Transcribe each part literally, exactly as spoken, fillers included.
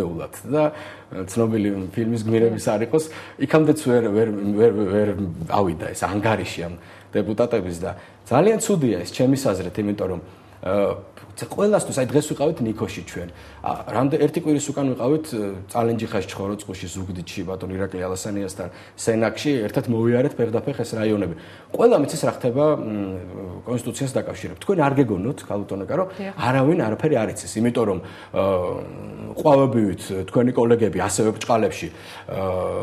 ეულად და ცნობილი ფილმის გმირების არ იყოს, იქამდეც ვერ ვერ ვერ ვერ ავიდა ეს ანგარიში ამ დეპუტატების და ძალიან ცუდია ეს ჩემის აზრით, იმიტომ რომ ყველასთვის აი დღეს ვიყავით ნიქოში ჩვენ. რამდენ ერთი კვირის უკან ვიყავით წალენჯიხაში, ხოროწყუში, ზუგდიდში, ბატონ ირაკლი ალასანიასთან, სენაკში, ერთად მოვიარეთ ფეხდაფეხ ეს რაიონები. ყველა მიცის რა ხდება კონსტიტუციას დაკავშირებით. თქვენ არ გეგონოთ, ქალბატონიკა, რომ არავინ არაფერი არ იცის, იმიტომ რომ ყვავებივით თქვენი კოლეგები ასევე ბჭყალებში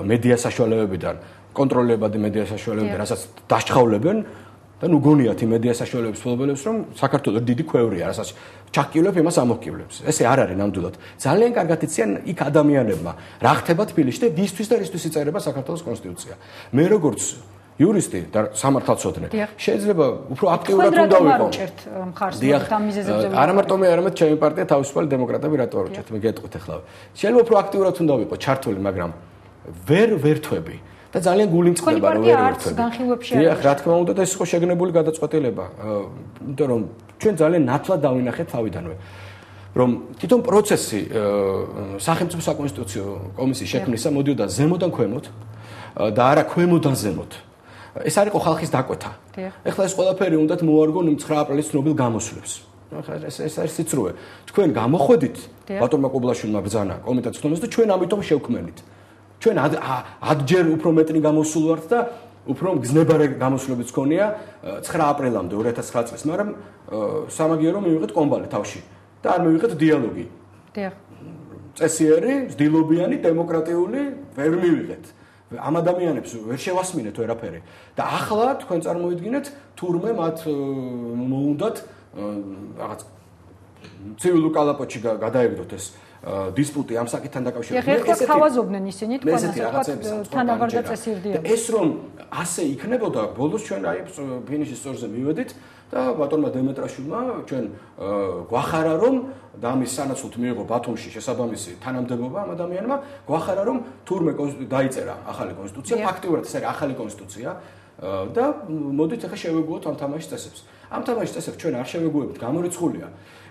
მედია საშუალებებიდან, კონტროლებადი მედია საშუალებებიდან, რასაც დასჩხავლებენ და ნუ გონიათ იმ მედია საშუალებების ფლობელებს, რომ საქართველოს დიდი ქვევრია, რასაც ჩაკივლებ იმას ამოჰკივლებს. ესე არ არის ნამდვილად. ძალიან კარგად იციან იქ ადამიანებმა, რა ხდება თბილისში და ვისთვის და რისთვის იწერება საქართველოს კონსტიტუცია. მე როგორც იურისტი და სამართალწოდნე შეიძლება უფრო აქტიურად უნდა ვიყო. არა მარტო მე, არამედ ჩემი პარტია თავისუფალი დემოკრატები რატო არ ვჭერთ, მე გეტყვით ახლა. შეიძლება უფრო აქტიურად უნდა ვიყო ჩართული, მაგრამ ვერ ვერთვები. და ძალიან გული მწყდება რომ ვერ ვერთვები. დიახ, რა თქმა უნდა და ეს იყო შეგნებული გადაწყვეტილება. იმიტომ რომ ჩვენ ძალიან ნათლად დავინახეთ თავიდანვე. რომ თვითონ პროცესი სახელმწიფო საკონსტიტუციო კომისიის შექმნისა მოდიოდა ზემოდან ქვემოთ და არა ქვემოდან ზემოთ. ეს არ იყო ხალხის დაკვეთა. ეხლა ეს ყველაფერი უნდათ მოარგონ იმ ცხრა აპრილის ცნობილ გამოსვლებს. ახლა ეს ეს არის სიცრუე. თქვენ გამოხვედით ბატონმა კობლაშვილმა ბრძანა კომიტეტს ხდომას და ჩვენ ამიტომ შევქმნით. ჩვენ ათჯერ უფრო მეტნი გამოსულ ვართ და უფრო გზნებარე გამოსვლებიც გქონია ცხრა აპრილამდე ორი ათას ცხრა წლის, მაგრამ სამაგიერო მივიღეთ კომბალი თავში და არ მივიღეთ დიალოგი. დიახ. წესიერი, ძდილობიანი, დემოკრატიული ვერ მივიღეთ. ამ ადამიანებს ვერ შევასმინეთ ვერაფერი. და ახლა თქვენ წარმოიდგინეთ, თურმე მათ მოუნდათ რაღაც ცივილურ კალაპოტში გადაეგდოთ ეს დისპუტი ამ საკითხთან დაკავშირებით. ეხლა თავაზობდნენ ისინი თქვენ თანავარდა წესირდია. ეს რომ ასე იქნებოდა, ბოლოს ჩვენ აი ფინიშის სწორზე მივედით და ბატონმა დემეტრაშვილმა ჩვენ გვახარა რომ და ამის სანაცვლოდ მიიღო ბათუმში შესაბამისი თანამდებობა ამ ადამიანმა, გვახარა რომ თურმე დაიწერა ახალი კონსტიტუცია, ფაქტიურად ეს არის ახალი კონსტიტუცია და მოდით ახლა შევეგუოთ ამ თამაშის წესებს. ამ თამაშის წესებს ჩვენ არ შევეგუებით, გამორიცხულია.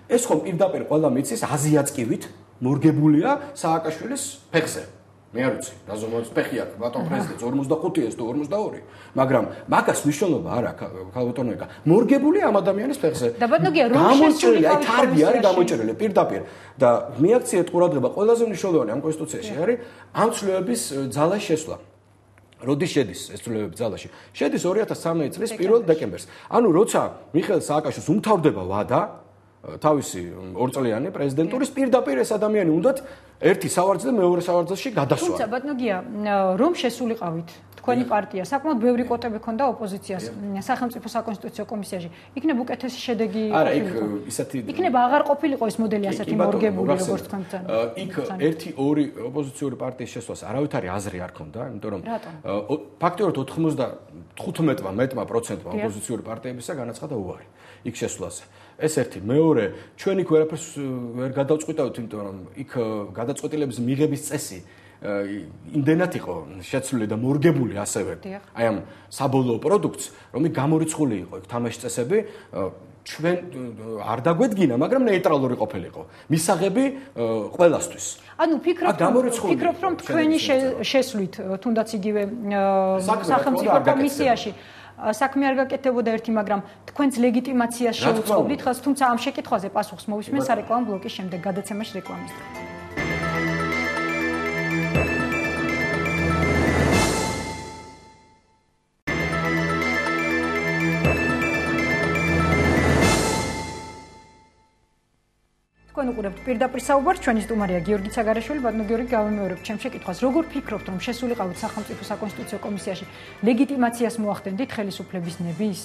ეს ხომ პირდაპირ ყველა მიცის აზიაწკივით მორგებულია სააკაშვილის ფეხზე. მე არ ვიცი, რაზომაც ფეხი აქვს ბატონ პრეზიდენტს ორმოცდახუთი თუ ორმოცდაორი, მაგრამ მაგას მნიშვნელობა არ აქვს ქალბატონიკა. მორგებულია ამ ადამიანის ფეხზე. და ბატონია რომ გამოჭრილი, აი თარგი არის გამოჭრილი პირდაპირ და მიაქციეთ ყურადღება ყველაზე მნიშვნელოვანი ამ კონსტიტუციაში არის ამ ცვლილებების ძალას შესვლა. როდის შედის ეს ცვლილებები ძალაში? შედის ორი ათას სამი წლის პირველ დეკემბერს. ანუ როცა მიხეილ სააკაშვილს უმთავრდება ვადა თავისი ორწლიანი პრეზიდენტურის პირდაპირ ეს ადამიანი უნდათ ერთი სავარძელზე მეორე სავარძელში გადასვა. თუმცა ბატონია რომ შესულიყავით თქვენი პარტია საკმაოდ ბევრი კვოტები ჰქონდა ოპოზიციას სახელმწიფო საკონსტიტუციო კომისიაში. იქნებ უკეთესი შედეგი არა, იქ ისეთი იქნებ აღარ ყოფილიყო ეს მოდელი ასეთი მორგებული როგორც თქვენ ბრძანა. იქ ერთი ორი ოპოზიციური პარტიის შესვლას არავითარი აზრი არ ჰქონდა, იმიტომ რომ ფაქტიურად ოცდახუთმა მეტმა პროცენტმა ოპოზიციური პარტიებისა განაცხადა უარი იქ შესვლაზე. ეს ერთი, მეორე, ჩვენ იქ ვერაფერს ვერ გადავწყვიტავთ, იმიტომ რომ იქ გადაწყვეტილების მიღების წესი იმდენად იყო შეცვლილი და მორგებული ასევე აი ამ საბოლოო პროდუქტს, რომ იქ გამორიცხული იყო იქ თამაშის წესები, ჩვენ არ დაგვედგინა, მაგრამ ნეიტრალური ყოფილიყო. მისაღები ყველასთვის. ანუ ფიქრობ, ფიქრობ რომ თქვენი შესვლით, თუნდაც იგივე სახელმწიფო კომისიაში საქმე არ გაკეთებოდა ერთი, მაგრამ თქვენს ლეგიტიმაციას შეუწყობდით ხალხს, თუმცა ამ შეკითხვაზე პასუხს მოვისმენთ სარეკლამო ბლოკის შემდეგ გადაცემაში რეკლამის დღე. თქვენ უყურებთ პირდაპირ საუბარს, ჩვენი სტუმარია გიორგი ცაგარაშვილი, ბატონო გიორგი, გავიმეორებ ჩემ შეკითხვას. როგორ ფიქრობთ, რომ შესულიყავით სახელმწიფო საკონსტიტუციო კომისიაში ლეგიტიმაციას მოახდენდით ხელისუფლების ნების?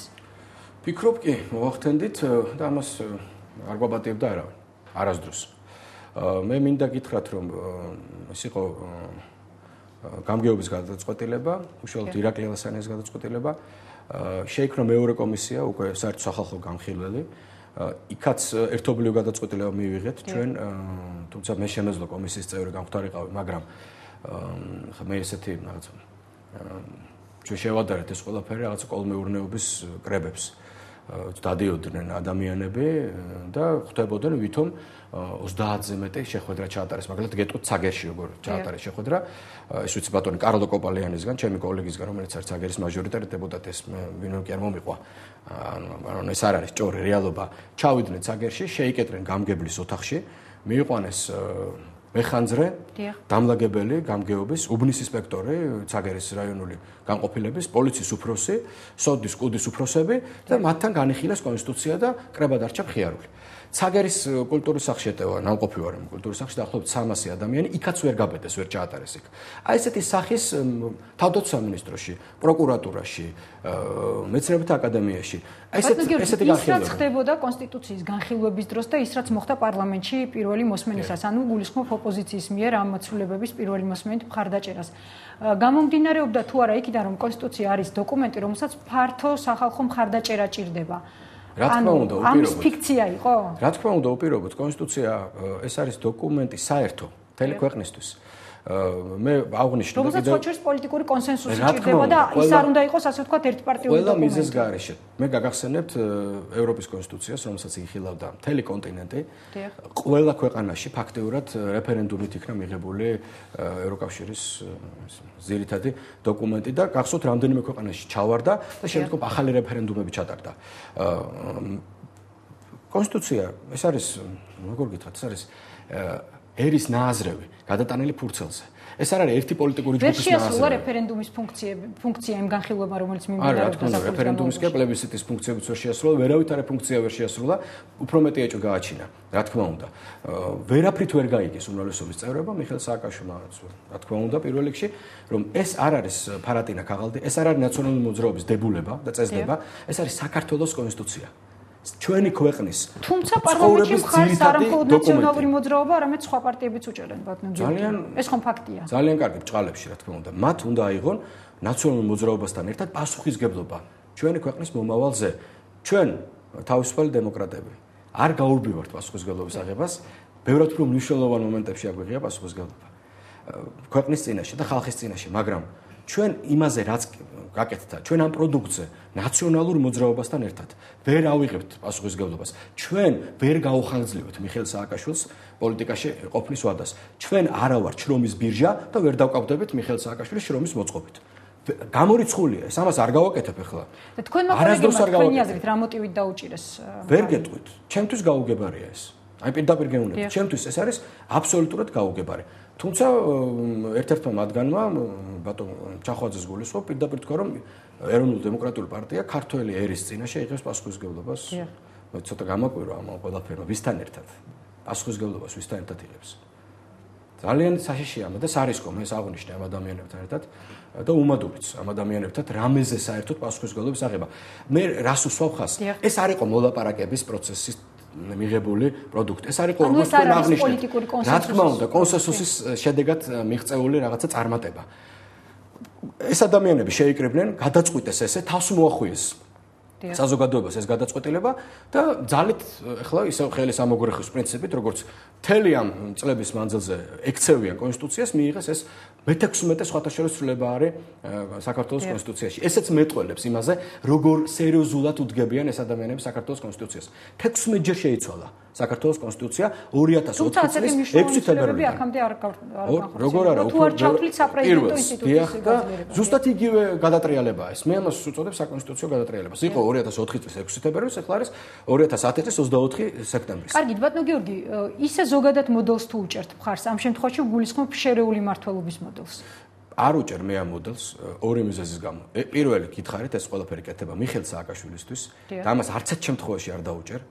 ფიქრობ კი, მოახდენდით და ამას არ გვაბატებდა არავინ, არასდროს. მე მინდა გითხრათ, რომ ეს იყო გამგეობის გადაწყვეტილება, უშუალოდ ირაკლი ალასანიას გადაწყვეტილება. შეიქმნა მეორე კომისია, უკვე საერთო სახალხო განხილველი. იქაც ერთობლივ გადაწყვეტილება მივიღეთ ჩვენ, თუმცა მე შემეძლო კომისიის წევრი გამხდარიყავი, მაგრამ მე ესეთი რაღაც ჩვენ შევადარეთ ეს ყველაფერი რაღაც კოლმეურნეობის კრებებს. დადიოდნენ ადამიანები და ხვდებოდნენ ვითომ ოცდაათზე მეტი შეხვედრა ჩაატარეს. მაგალითად გეტყვით ცაგერში როგორ ჩაატარეს შეხვედრა. ეს ვიცი ბატონი კარლო კოპალიანისგან, ჩემი კოლეგისგან, რომელიც არის ცაგერის მაჟორიტარი დეპუტატი, ეს ვინმე კი არ მომიყვა. ანუ ეს არ არის ჭორი რეალობა. ჩავიდნენ ცაგერში, შეიკეტრნენ გამგებლის ოთახში, მიიყვანეს მეხანძრე, დამლაგებელი გამგეობის, უბნის ინსპექტორი, ცაგერის რაიონული განყოფილების, პოლიციის უფროსი, სოდის კუდის უფროსები და მათთან განიხილეს კონსტიტუცია და კრება დარჩა მხიარული. ცაგერის კულტურის სახლში ეტევა, ნამყოფი ვარ იმ კულტურის სახლში, დაახლოებით სამასი ადამიანი, იქაც ვერ გაბედეს, ვერ ჩაატარეს იქ. აი ესეთი სახის თავდაცვის სამინისტროში, პროკურატურაში, მეცნიერებათა აკადემიაში, აი ესეთი ესეთი განხილვები. ის რაც ხდებოდა კონსტიტუციის განხილვების დროს და ის რაც მოხდა პარლამენტში პირველი მოსმენისას, ანუ გულისხმობ ოპოზიციის მიერ ამ მოცულებების პირველი მოსმენით მხარდაჭერას. გამომდინარეობდა თუ არა იქიდან, რომ კონსტიტუცია არის დოკუმენტი, რომელსაც ფართო სახალხო მხარდაჭერა ჭირდება. რა თქმა უნდა, უპირობოდ. ამის ფიქცია იყო? რა თქმა უნდა, უპირობოდ. კონსტიტუცია ეს არის დოკუმენტი საერთო მთელი ქვეყნისთვის. მე აღნიშნე და კიდევ რომელსაც პოლიტიკური კონსენსუსი ჭირდება და ის არ უნდა იყოს ასე ვთქვათ ერთპარტიული დოკუმენტი. ყველა მიზეზ გარეშე. მე გაგახსენებთ ევროპის კონსტიტუციას, რომელსაც იხილავდა მთელი კონტინენტი. ყველა ქვეყანაში ფაქტიურად რეფერენდუმით იქნა მიღებული ევროკავშირის ძირითადი დოკუმენტი და გახსოვთ რამდენიმე ქვეყანაში ჩავარდა და შემდგომ ახალი რეფერენდუმები ჩატარდა. კონსტიტუცია ეს არის როგორ გითხრათ, ეს არის ერის ნააზრევი გადატანილი ფურცელზე. ეს არ არის ერთი პოლიტიკური ჯგუფის ნააზრევი. ვერ შეასრულა რეფერენდუმის ფუნქცია, ფუნქცია იმ განხილვებმა, რომელიც მიმდინარეობდა საქართველოს რეფერენდუმის კი პლებისციტის ფუნქციებიც ვერ შეასრულა, ვერავით არა ფუნქცია ვერ შეასრულა, უფრო მეტი ეჭვი გააჩინა, რა თქმა უნდა. ვერაფრით ვერ გაიგეს უმრავლესობის წევრებმა, მიხეილ სააკაშვილმა, რა თქმა უნდა, პირველ რიგში, რომ ეს არ არის ფარატინა ქაღალდი, ეს არ არის ნაციონალური მოძრაობის დებულება და წესდება, ეს არის საქართველოს კონსტიტუცია. ჩვენი ქვეყნის თუმცა პარლამენტში მხარს არა მხოლოდ ნაციონალური მოძრაობა, არამედ სხვა პარტიებიც უჭერენ ბატონო გიორგი. ეს ხომ ფაქტია. ძალიან კარგი ბჭყალებში, რა თქმა უნდა. მათ უნდა აიღონ ნაციონალურ მოძრაობასთან ერთად პასუხისგებლობა ჩვენი ქვეყნის მომავალზე. ჩვენ თავისუფალი დემოკრატები არ გაურბივართ პასუხისგებლობის აღებას, ბევრად უფრო მნიშვნელოვან მომენტებში აგვიღია პასუხისგებლობა ქვეყნის წინაშე და ხალხის წინაშე, მაგრამ ჩვენ იმაზე რაც გაკეთდა, ჩვენ ამ პროდუქტზე ნაციონალურ მოძრაობასთან ერთად ვერ ავიღებთ პასუხისგებლობას. ჩვენ ვერ გაუხანგრძლივებთ მიხეილ სააკაშვილს პოლიტიკაში ყოფნის ვადას. ჩვენ არა ვართ შრომის ბირჟა და ვერ დავკავდებით მიხეილ სააკაშვილის შრომის მოწყობით. გამორიცხულია ეს, ამას არ გავაკეთებ ახლა. და თქვენმა კოლეგებმა თქვენი აზრით რა მოტივით დაუჭირეს? ვერ გეტყვით. ჩემთვის გაუგებარია ეს. აი პირდაპირ გეუბნებით, ჩემთვის ეს არის აბსოლუტურად გაუგებარი. თუმცა ერთ-ერთმა მათგანმა ბატონ ჩახვაძეს გულისხმობ, პირდაპირ თქვა, რომ ეროვნული დემოკრატიული პარტია ქართველი ერის წინაშე იღებს პასუხისგებლობას. მე ცოტა გამაკვირვა ამ ყველაფერმა, ვისთან ერთად. პასუხისგებლობას ვისთან ერთად იღებს. ძალიან საშიშია და სარისკო ეს აღნიშნე ამ ადამიანებთან ერთად და უმადობიც ამ ადამიანებთან რამეზე საერთოდ პასუხისგებლობის აღება. მე რას უსვავ ხაზს? ეს არ იყო მოლაპარაკების პროცესის მიღებული პროდუქტი. ეს არის როგორც თქვენ აღნიშნეთ. რა თქმა უნდა, კონსენსუსის შედეგად მიღწეული რაღაცა წარმატება. ეს ადამიანები შეიკრიბნენ, გადაწყვიტეს ესე, თავს მოახვიეს საზოგადოებას ეს გადაწყვეტილება და ძალით ახლა ისევ ხელის ამოგრეხვის პრინციპით, როგორც მთელი ამ წლების მანძილზე ექცევიან კონსტიტუციას, მიიღეს ეს მეთექვსმეტე სხვათა შორის ცვლილება არის საქართველოს კონსტიტუციაში. ესეც მეტყველებს იმაზე, როგორ სერიოზულად უდგებიან ეს ადამიანები საქართველოს კონსტიტუციას. თექვსმეტჯერ შეიცვალა საქართველოს კონსტიტუცია ორი ათას ოთხი წლის ექვსი თებერვლიდან. აქამდე არ როგორ არა, უფრო ჩათვლით საპრეზიდენტო ინსტიტუტის გაძლიერება. ზუსტად იგივე გადატრიალებაა ეს. მე ამას უწოდებ საკონსტიტუციო გადატრიალებას. იყო ორი ათას ოთხი წლის ექვსი თებერვლის, ახლა არის ორი ათას ათი წლის ოცდაოთხი სექტემბრის. კარგით, ბატონო გიორგი, ისე ზოგადად მოდელს თუ უჭერთ მხარს, ამ შემთხვევაში გულისხმობ შერეული მმართველობის მოდელს. არ უჭერ მე ამ მოდელს ორი მიზეზის გამო. პირველი გითხარით, ეს ყველაფერი კეთება მიხეილ სააკაშვილისთვის და ამას არც ერთ შემთხვევაში არ დაუჭერ.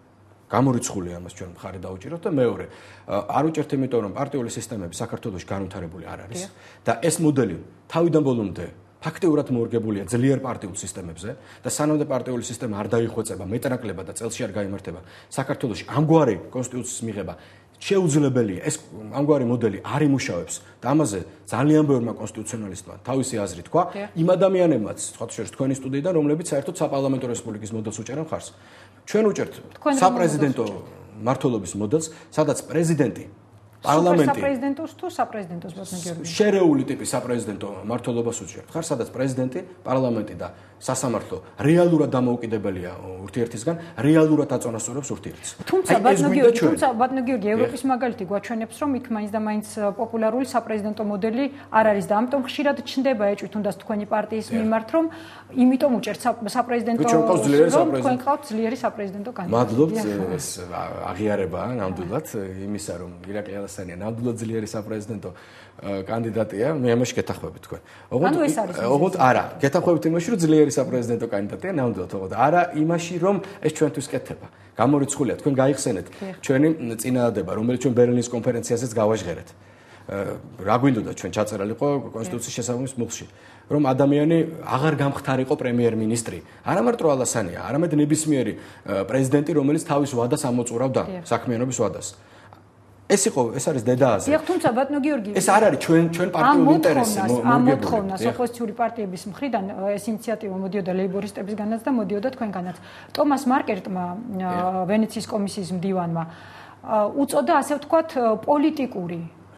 გამორიცხულია ამას ჩვენ მხარი დაუჭიროთ და მეორე არ უჭერთ იმიტომ რომ პარტიული სისტემები საქართველოში განვითარებული არ არის და ეს მოდელი თავიდან ბოლომდე ფაქტიურად მორგებულია ძლიერ პარტიულ სისტემებზე და სანამდე პარტიული სისტემა არ დაიხვეწება მეტნაკლებად და წელში არ გაიმართება საქართველოში ამგვარი კონსტიტუციის მიღება შეუძლებელია ეს ამგვარი მოდელი არ იმუშავებს და ამაზე ძალიან ბევრმა კონსტიტუციონალისტმა თავისი აზრი თქვა იმ ადამიანებმაც სხვა შორის თქვენი სტუდიიდან რომლებიც საერთოდ საპარლამენტო რესპუბლიკის მოდელს უჭერენ მხარს ჩვენ უჭერთ საპრეზიდენტო მმართველობის მოდელს სადაც პრეზიდენტი პარლამენტი საპრეზიდენტოს თუ საპრეზიდენტოს ბატონო გიორგი შერეული ტიპის საპრეზიდენტო მმართველობას უჭერთ ხარ სადაც პრეზიდენტი პარლამენტი და სასამართლო რეალურად დამოუკიდებელია ურთიერთისგან რეალურად აწონასწორებს ურთიერთს თუმცა ბატონო გიორგი თუმცა ბატონო გიორგი ევროპის მაგალითი გვაჩვენებს რომ იქ მაინც და მაინც პოპულარული საპრეზიდენტო მოდელი არ არის და ამიტომ ხშირად ჩნდება ეჭვი თუნდაც თქვენი პარტიის მიმართ რომ იმიტომ უჭერთ საპრეზიდენტო რომ თქვენ ყავთ ძლიერი საპრეზიდენტო კანდიდატი მადლობთ ეს აღიარებაა ნამდვილად იმისა რომ ირაკლი ალასანია ნამდვილად ძლიერი საპრეზიდენტო კანდიდატია მე ამაში გეთახვები თქვენ ოღონდ ოღონდ არა გეთახვებით იმაში რომ ძლიერი საპრეზიდენტო კანდიდატია ნამდვილად ოღონდ არა იმაში რომ ეს ჩვენთვის კეთება გამორიცხულია თქვენ გაიხსენეთ ჩვენი წინადადება რომელიც ჩვენ ბერლინის კონფერენციაზეც გავაჟღერეთ რა გვინდოდა ჩვენ ჩაწერილიყო კონსტიტუციის შესაბამის მუხლში რომ ადამიანი აღარ გამختارიყო პრემიერ-მინისტრი არა მარტო ალასანია არამედ ნებისმიერი პრეზიდენტი რომელიც თავის ვადას ამოწურავდა საქმიანობის ვადას ეს იყო ეს არის დედააზე დიახ თუმცა ბატონო გიორგი ეს არ არის ჩვენ ჩვენ პარტიული ინტერესი ამ მოთხოვნას ოპოზიციური პარტიების მხრიდან ეს ინიციატივა მოდიოდა ლეიბორისტებისგანაც და მოდიოდა თქვენგანაც ტომას მარკერტმა ვენეციის კომისიის მდივანმა უწოდა ასე ვთქვათ პოლიტიკური